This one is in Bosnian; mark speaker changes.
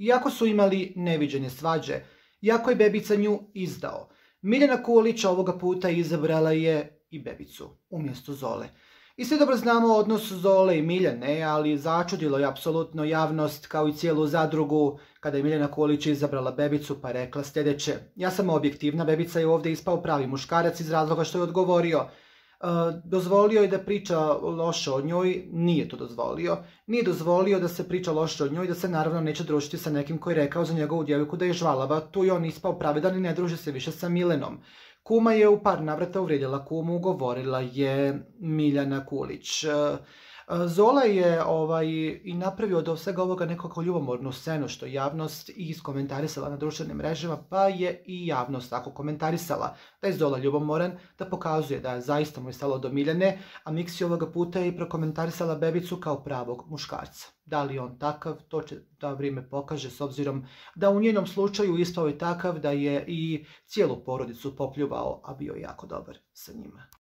Speaker 1: iako su imali neviđene svađe, iako je Bebica nju izdao. Miljana Kulić ovoga puta izabrala je i Bebicu umjesto Zole. I svi dobro znamo odnos Zole i Miljane, ali začudilo je apsolutno javnost kao i cijelu zadrugu kada je Miljana Kulić izabrala Bebicu pa rekla sljedeće: ja sam objektivna, Bebica je ovdje ispao pravi muškarac iz razloga što je odgovorio. Dozvolio je da priča loše o njoj, nije to dozvolio. Nije dozvolio da se priča loše o njoj, da se naravno neće družiti sa nekim koji je rekao za njegovu djevojku da je žvalava. Tu je on ispao pravedan i ne druži se više sa Milenom. Kuma je u par navrata uvrijedila kumu, govorila je Miljana Kulić. Zola je i napravio od svega ovoga nekako ljubomornu scenu što je javnost i iskomentarisala na društvenim mrežama, pa je i javnost tako komentarisala da je Zola ljubomoran, da pokazuje da je zaista mu je stalo do Miljane, a Miksi ovoga puta je i prokomentarisala Bebicu kao pravog muškarca. Da li je on takav, to će da vrijeme pokaže, s obzirom da u njenom slučaju ispao je takav da je i cijelu porodicu popljuvao, a bio je jako dobar sa njima.